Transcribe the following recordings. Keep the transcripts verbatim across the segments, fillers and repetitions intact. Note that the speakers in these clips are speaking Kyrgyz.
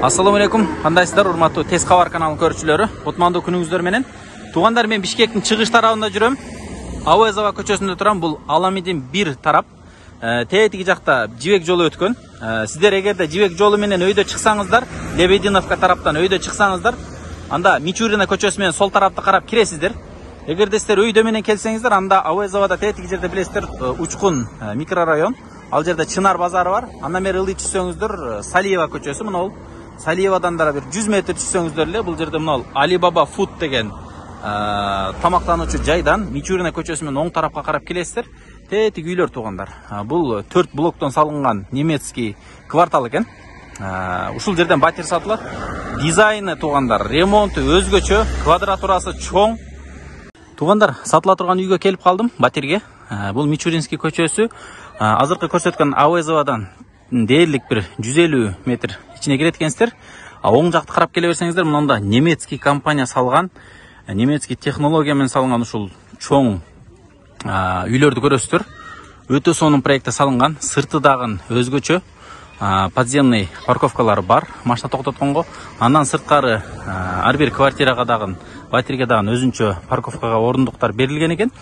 Assalamu алейкум, кандайсыздар, урматтуу Тез кабар каналынын көрүүчүлөрү. Кутмандуу күнүңүздөр менен. Туугандар, мен Бишкектин чыгыш тарабында жүрөм. Авоязова көчөсүндө турам. Бул Аламидин бир тарап. Тетиги жакта жибек жолу өткөн. Сиздер эгерде жибек жолу менен өйдө чыксаңыздар, Лебединовка тараптан өйдө чыксаңыздар, анда Мичурина көчөсү менен сол тарапты карап киресиздер. Эгерде сиздер өйдө менен келсеңиздер, анда Авоязовада тетиги жерде билесиздер, Учкун микрорайон. Ал жерде Чынар базары бар. Андан бери ылдый түшсөңүздөр, Салиева көчөсү, мына ол Салиевадан да бир жүз метр түшсөңүздөр эле, бул жерде мына Алибаба Фуд деген тамактануучу жайдан Мичурина көчөсү менен оң тарапка карап келесиздер. Тетиги үйлөр туугандар. Бул төрт блоктон салынган немецкий квартал экен. Ушул жерден батир сатылат. Дизайны туугандар, ремонту өзгөчө, квадратурасы чоң. Туугандар, сатыла турган үйгө келип калдым, батирге. Бул Мичуринский көчөсү. Азыркы көрсөткөн Авоязовадан дээрлик бир жүз элүү метр ичине кирет экенсиздер. Оң жакты карап келе берсеңиздер, мында немецкий компания салган, немецкий технология менен салган ушул чоң үйлөрдү көрөсүздөр. Өтө сонун проектте салынган, сырты дагы өзгөчө, подземный парковкалары бар, машина токтотконго. Андан сырткары ар бир квартирага дагы, батирге дагы өзүнчө парковкага орундуктар берилген экен.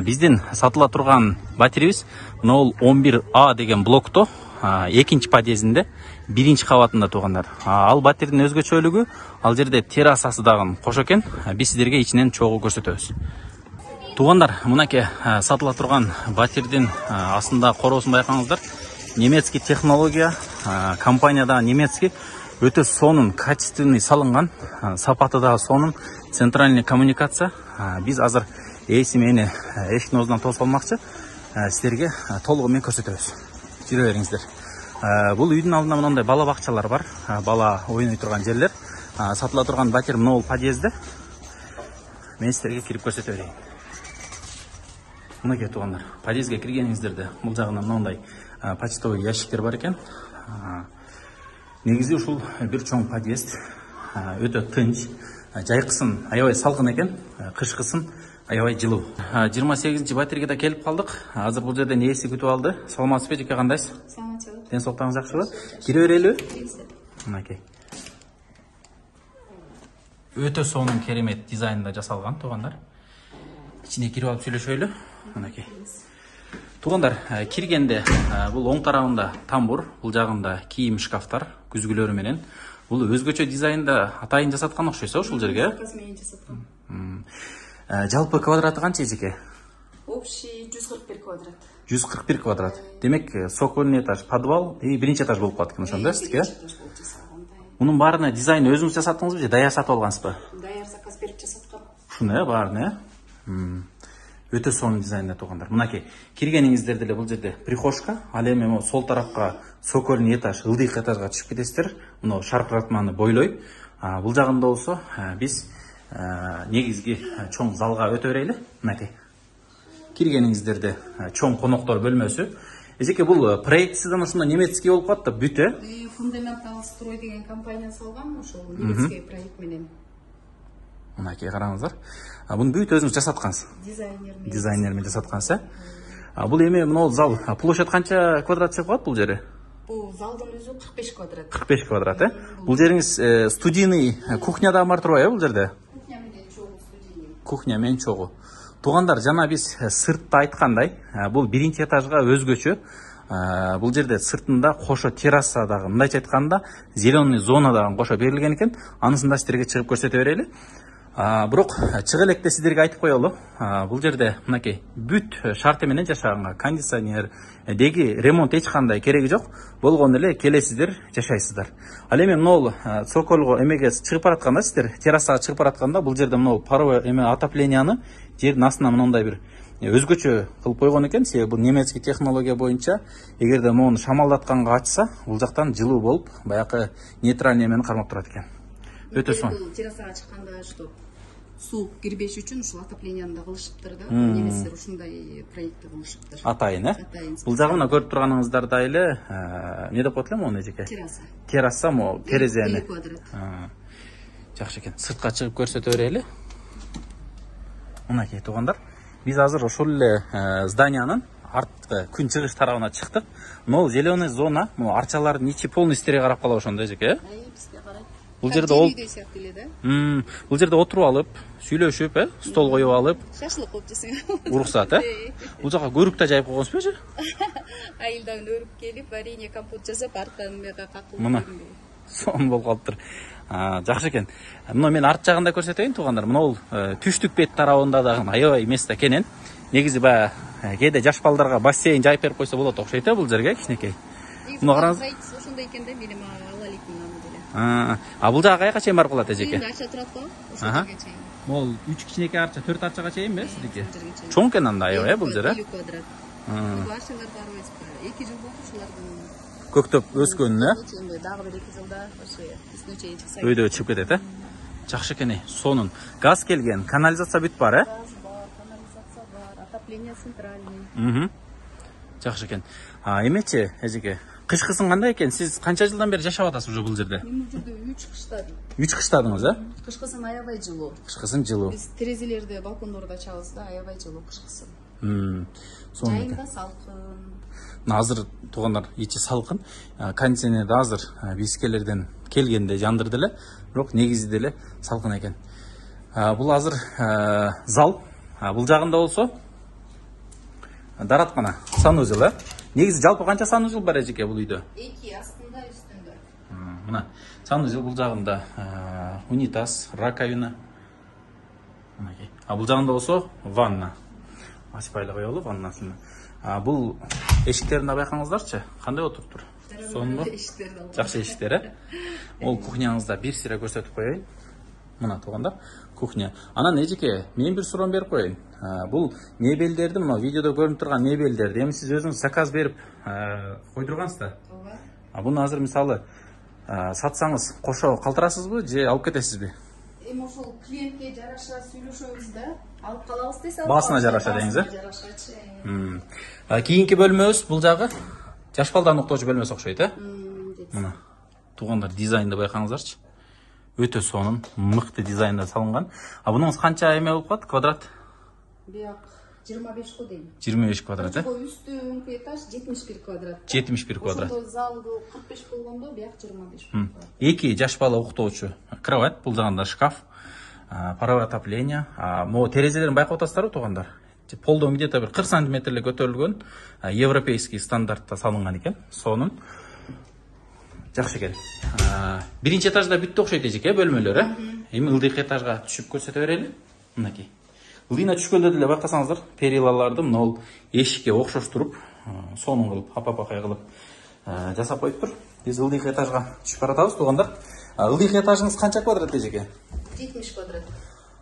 Биздин сатыла турган батирибиз нол он бир А деген блокто, экинчи подъездинде, биринчи кабатында туугандар. Ал батирдин өзгөчөлүгү, ал жерде террасасы дагы кош экен. Биз сиздерге ичинен чогуу көрсөтөбүз. Туугандар, мынакей сатыла турган батирдин астында короосун байкаңыздар. Немецкий технология, компанияда немецкий, өтө сонун, качественный салынган, сапаты дагы сонун, центральный коммуникация. Биз азыр эси мени эшиктин оозунан тосуп алмакчы, сиздерге толугу менен көрсөтөбүз. Жүрө бериңиздер. Бул үйдүн алдында мындай бала бакчалар бар, бала ойной турган жерлер. Сатыла турган батир мына бул подъездде. Мен сиздерге кирип көрсөтө берейин. Мынакей туугандар, подъездге киргениңиздерде бул жагынан мындай почтовый ящиктер бар экен. Негизи ушул бир чоң подъезд, өтө тынч, жайкысын аябай салкын экен, кышкысын аябай жылуу. жыйырма сегизинчи батирге да келип калдык. Азыр бул жерден ээси күтүп алды. Саламатсызбы, жеке кандайсыз? Саламатсызбы. Ден соолуктарыңыз жакшыбы? Кире берелиби? Мынакей. Өтө сонун керемет дизайнда жасалган туугандар. Ичине кирип алып сүйлөшөлү. Мынакей. Туугандар, киргенде бул оң тарабында тамбур, бул жагында кийим шкафтар, күзгүлөрү менен. Бул өзгөчө дизайнда атайын жасаткан окшойсо ушул жерге. Жалпы квадраты канча эжеке? Общий жүз кырк бир квадрат. жүз кырк бир квадрат. Демек, сокольный этаж, подвал и биринчи этаж болуп калат экен ошондо, сизге? Мунун баарына дизайн өзүңүз жасаттыңызбы же даяр сатып алгансызбы? Даяр заказ берип жасаткам. Ушуну э, баарына э? Өтө сонун дизайнда туугандар. Мынакей, киргениңиздерде эле бул жерде прихожка, ал эми могу сол тарапка сокольный этаж, ылдыйкы этажга түшүп кетесиздер. Мына шаркыратманы бойлой. Бул жагында болсо биз негизги чоң залга өтө берели. Мынакей. Киргениңиздерде чоң коноктор бөлмөсү. Эжеке, бул проектсизден ушунда немецкий болуп калат да, бүт э? Фундаментал строй деген компания салган, ошол немецкий проект менен. Мынакей караңыздар. Буну бүт өзүңүз жасаткансыз. Дизайнер менен. Дизайнер менен жасаткансыз э? Бул эми мына зал площадь канча квадрат чыгып калат бул жери? Бул залдын өзү кырк беш квадрат. кырк беш квадрат э? Бул жериңиз студийный кухня да бар турбайбы бул жерде? Кухня менен чогуу студийный. Кухня менен чогуу. Туугандар, жана биз сыртта айткандай, бул биринчи этажга өзгөчө. Бул жерде сыртында кошо терраса дагы, мындайча айтканда, зеленый зона дагы кошо берилген экен. Анысын да сиздерге чыгып көрсөтө берели. Бирок чыгы электе сиздерге айтып коелу. Бул жерде мынакей бүт шарты менен жашаганга, кондиционер, деги ремонт эч кандай кереги жок. Болгону эле келесиздер, жашайсыздар. Ал эми мынау цокольго эмеге чыгып баратканда, сиздер террасага чыгып баратканда, бул жерде мынау паровой эме отопленияны жердин астына мындай бир өзгөчө кылып койгон экен. Себеби бул немецкий технология боюнча эгерде мону шамалдатканга ачса, бул жактан жылуу болуп, баягы нейтральный эмени кармап турат экен. Өтө сонун. Бул террасага чыкканда что суу кирбеш үчүн ушул отоплениени да кылышыптыр да. Неместер ушундай проектти кылышыптыр. Атайын, э? Бул жагы мына көрүп турганыңыздардай эле, эмне деп коет эле мону эжеке? Терраса. Терраса мо терезени. Квадрат. Жакшы экен. Сыртка чыгып көрсөтө берели. Мынакей туугандар, биз азыр ошол эле зданиянын арткы күн чыгыш тарабына чыктык. Могу зеленый зона, могу арчалардын ичи полностью терге карап калат ошондо эжеке, э? Бизге карайт. Бул жерде ол сыяктуу эле да. Мм, бул жерде отуруп алып, сүйлөшүп, э, стол коюп алып, шашлык кылып жесең. уруксат, э? Бул жака көрүк да жайып койгонсузбу эже? Айылдан өрүп келип, варенье, компот жасап, арттан мага какылып. Мына сонун болуп калыптыр. Жакшы экен. Мына мен арт жагында көрсөтөйүн туугандар. Мына бул түштүк бет тарабында дагы аябай место кенен. Негизи баягы кээде жаш балдарга бассейн жайып берип койсо болот окшойт, э, бул жерге кичинекей. Мына караңыз. Ошондой экен да, менин ала элек мынаны деле. А бул жага каяка чейин барып калат эжеке? Эми арча турат го, ошого чейин. Могул үч кичинекей арча, төрт арчага чейинби сиздики? Чоң экен анда аябай, э, бул жер, э? элүү квадрат. Бул арчалар барбайсызбы? эки жыл болду ушулардын көктөп өскөнүнө, э? Дагы бир эки жылда ошо үстүнө чейин чыкса. Өйдө чыгып кетет, э? Жакшы экен, сонун. Газ келген, канализация бүт бар, э? Газ бар, канализация бар, отопление центральный. Мм. Жакшы экен. А эмечи, эжеке, кышкысын кандай экен? Сиз канча жылдан бери жашап атасыз уже бул жерде? Мен бул жерде үч кыштадым. үч кыштадыңыз, э? Кышкысын аябай жылуу. Кышкысын жылуу. Биз терезелерди, балкондорду ачабыз да, аябай жылуу кышкысын. Мм. Сонун экен. Жайында салкын. Азыр туугандар ичи салкын. Кондиционерди азыр бискелерден келгенде жандырды эле, бирок негизи деле салкын экен. Бул азыр зал. Бул жагында болсо дараткана, санузел, э? Негизи жалпы канча санузел бар эжеке бул үйдө? эки астында, үстүндө. Мына санузел бул жагында унитаз, раковина. Мынакей. А бул жагында болсо ванна. Ачпай эле коелу ваннасын. А бул эшиктерин да байкаңыздарчы, кандай отуруптур? Сонунбу? Жакшы эшиктер, э? Ол кухняңызда бир сыйра көрсөтүп коеюн. Мына туугандар, кухня. Анан эжеке, мен бир суроом берип коеюн. Бул мебелдерди, мына видеодо көрүнүп турган мебелдерди эми сиз өзүңүз заказ берип койдургансыз да? Ооба. А буну азыр мисалы сатсаңыз кошо калтырасызбы же алып кетесизби? Эми ошол клиентке жараша сүйлөшөбүз да, алып калабыз десе. Баасына жараша деңиз, э? Жарашачы. Кийинки бөлмөбүз бул жагы жаш балдарды уктоочу бөлмөсү окшойт, э? Мына туугандар дизайнды байкаңыздарчы. Өтө сонун, мыкты дизайнда салынган. А бунуңуз канча эме болуп калат? Квадрат? Бияк жыйырма беш го дейм. жыйырма беш квадрат, э? Үстүнкү этаж жетимиш бир квадрат. жетимиш бир квадрат. Ошондо залды кырк беш болгондо бияк жыйырма беш. Эки жаш бала уктоочу кровать, бул жагында шкаф, паровое отопление. Могу терезелерин байкап атасыздарбы туугандар? Полдон где-то бир кырк сантиметрлик көтөрүлгөн, европейский стандартта салынган экен. Сонун. Жакшы экен. Биринчи этажда бүттү окшойт эжеке, бөлмөлөр, э? Эми ылдыйкы этажга түшүп көрсөтө берели. Мынакей. Ылдыйна түшкөндө деле байкасаңыздар, перилаларды мына эшикке окшоштуруп, сонун кылып, апа-апакай кылып жасап коюптур. Биз ылдыйкы этажга түшүп баратабыз туугандар. Ылдыйкы этажыңыз канча квадрат эжеке? жетимиш квадрат.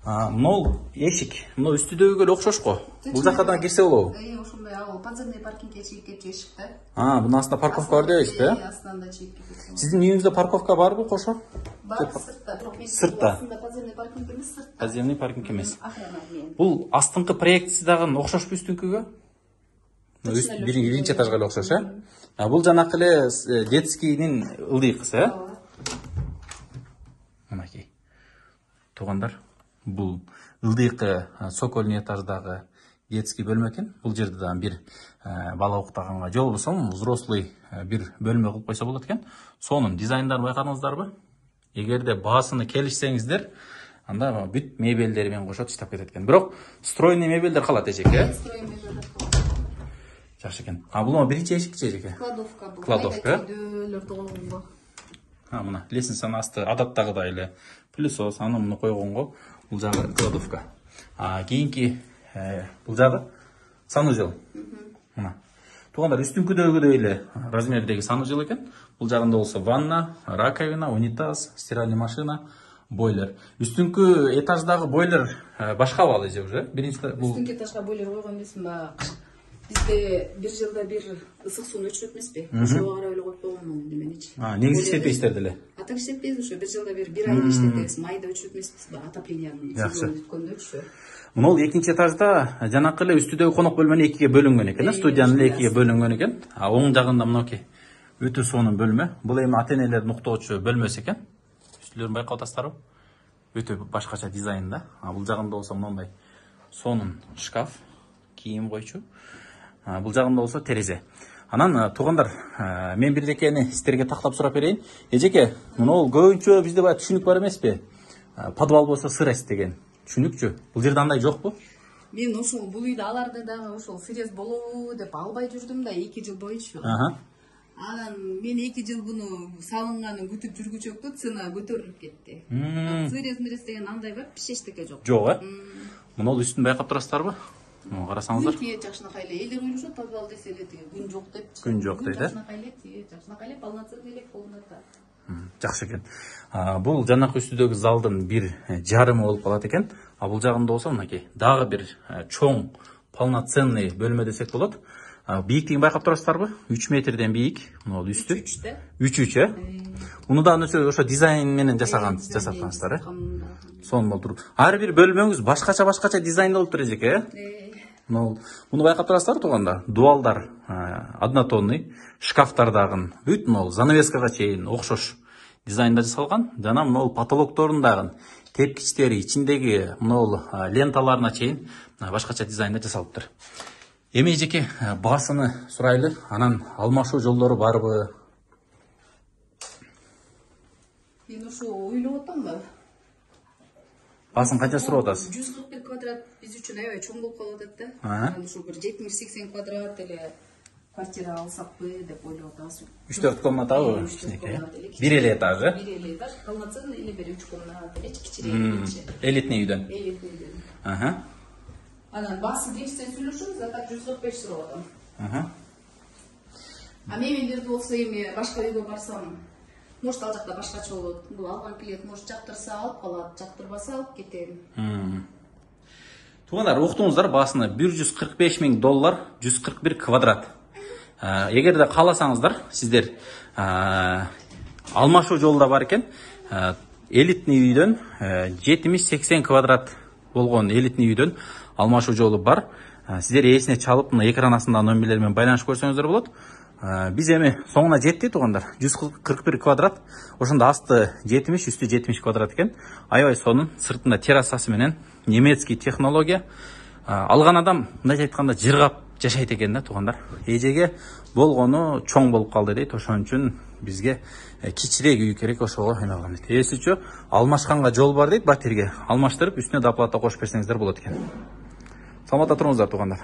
Мына эшик, мына үстүдөгүгө эле окшош го. Бул жакка да кирсе болобу? Э, ошондой ал подземный паркингге чейин кетчү эшик да. А, бунун астында парковка бар дебейсизби, э? Астында чейин кетет. Сиздин үйүңүздө парковка барбы кошо? Бар, сыртта. Бирок мен Сыртта. астында подземный паркинг эмес, сыртта. Подземный паркинг эмес. Охрана менен. Бул астыңкы проектиси дагы окшошпу үстүнкүгө? Биринчи этажга эле окшош, э? А бул жанакы эле детскийдин ылдыйкысы, э? Мынакей. Туугандар, бул ылдыйкы сокольный этаждагы детский бөлмө экен. Бул жерде дагы бир бала уктаганга, же болбосо взрослый бир бөлмө кылып койсо болот экен. Сонун дизайндарын байкадыңыздарбы? Эгерде баасыны келишсеңиздер, анда бүт мебелдери менен кошо таштап кетет экен. Бирок стройный мебелдер калат эжеке. Стройный мебелдер калат. Жакшы экен. А бул биринчи эшикчи эжеке? Кладовка бул. Кладовка. Дөөлөрдү койгонго. А мына лестницанын асты адаттагыдай эле пылесос, аны муну койгонго бул жагы кладовка. А кийинки бул жагы санузел. Мына. Туугандар үстүнкүдөгүдөй эле размердеги санузел экен. Бул жагында болсо ванна, раковина, унитаз, стиральный машина. бойлер. Үстүнкү этаждагы бойлер башка балы же уже? Биринчи бул Үстүнкү этажга бойлер койгон эмесмин ба? Бизде бир жылда бир ысык сууну өчүрөт эмеспи? Ошого карап эле коюп койгонмун неменичи. А, негизи иштетпейсиздер деле. А так иштетпейбиз ушу. Бир жылда бир бир айда иштетебиз. Майда өчүрөт эмеспиз ба? Отоплениянын сезону бүткөндөрчү. Мына бул экинчи этажда жанакы эле үстүдөгү конок бөлмөнү экиге бөлүнгөн экен, студиянын эле экиге бөлүнгөн экен. А оң жагында мынакей өтө сонун бөлмө. Бул эми ата энелердин уктоочу бөлмөсү экен. Үстүлөрүн байкап атасыздарбы? Өтө башкача дизайнда. А бул жагында болсо мындай сонун шкаф, кийим койчу. Бул жагында болсо терезе. Анан туугандар, мен бир жекени сиздерге тактап сурап берейин. Эжеке, мына бул көбүнчө бизде баягы түшүнүк бар эмеспи? Подвал болсо сырость деген. Түшүнүкчү. Бул жерде андай жокпу? Мен ошол бул үйдө аларды дагы ошол сырез болобу деп албай жүрдүм да эки жыл боюнчу. Анан мен эки жыл буну салынганын күтүп жүргүчөктү, цена көтөрүлүп кетти. Сырез мырез деген андай бар, эчтеке жок. Жок, э? Мына бул үстүн байкап турасыздарбы? Мына карасаңыздар. Тие жакшынакай эле. Элдер ойлошот подвал десе эле тиги күн жок деп. Күн жок дейт, э? Жакшынакай эле, тие жакшынакай эле полноценный элек комната. Жакшы экен. Бул жанакы үстүдөгү залдын бир жарымы болуп калат экен. А бул жагында болсо мынакей дагы бир чоң полноценный бөлмө десек болот. Бийиктигин байкап турасыздарбы? үч метрден бийик. Мына бул үстү. үч да. үч үч, э? Муну да ошо ошо дизайн менен жасаган, жасаткансыздар, э? Сонун болуп туруп. Ар бир бөлмөңүз башкача-башкача дизайнда болуп тур эжеке, э? Муну байкап турасыздарбы туугандар? Дуалдар однотонный, шкафтар дагы бүт могул занавескага чейин окшош дизайнда жасалган. Жана могул потолокторун дагы тепкичтери, ичиндеги могул ленталарына чейин башкача дизайнда жасалыптыр. Эми эжеке баасыны сурайлы, анан алмашуу жолдору барбы? Мен ошо ойлоп атам да. Баасын канча сурап атасыз? жүз кырк бир квадрат биз үчүн аябай чоң болуп калып атат да. Анан ушул бир жетимиш сексен квадрат эле квартира алсакпы деп ойлоп атабыз. үч төрт комнатабы? Бир эле этаж, э? Бир эле этаж, полноценный эле бир үч комната, эле кичирээк. Элитный үйдөн. Элитный үйдөн. Аха. Анан баасы дешсен сүйлөшөбүз, а так жүз кырк беш сурап атам. Аха. А мебелдерди болсо эми башка үйгө барсам, может ал жакта башкача болот. Бул алган клиент может жактырса алып калат, жактырбаса алып кетем. Туугандар, уктуңуздар, баасыны бир жүз кырк беш миң доллар, жүз кырк бир квадрат. Эгерде кааласаңыздар, сиздер алмашуу жолу да бар экен. Элитный үйдөн жетимиш сексен квадрат болгон элитный үйдөн алмашуу жолу бар. Сиздер ээсине чалып, мына экран астындагы номерлер менен байланышып көрсөңүздөр болот. Биз эми соңуна жетти туугандар. жүз кырк бир квадрат. Ошондо асты жетимиш, үстү жетимиш квадрат экен. Аябай сонун, сыртында террасасы менен немецкий технология. Алган адам мындай айтканда жыргап жашайт экен да туугандар. Эжеге болгону чоң болуп калды дейт. Ошон үчүн бизге кичирээк үй керек, ошого эме кылам дейт. Эсичи алмашканга жол бар дейт, батирге алмаштырып, үстүнө доплата кошуп берсеңиздер болот экен. Саламатта туруңуздар туугандар.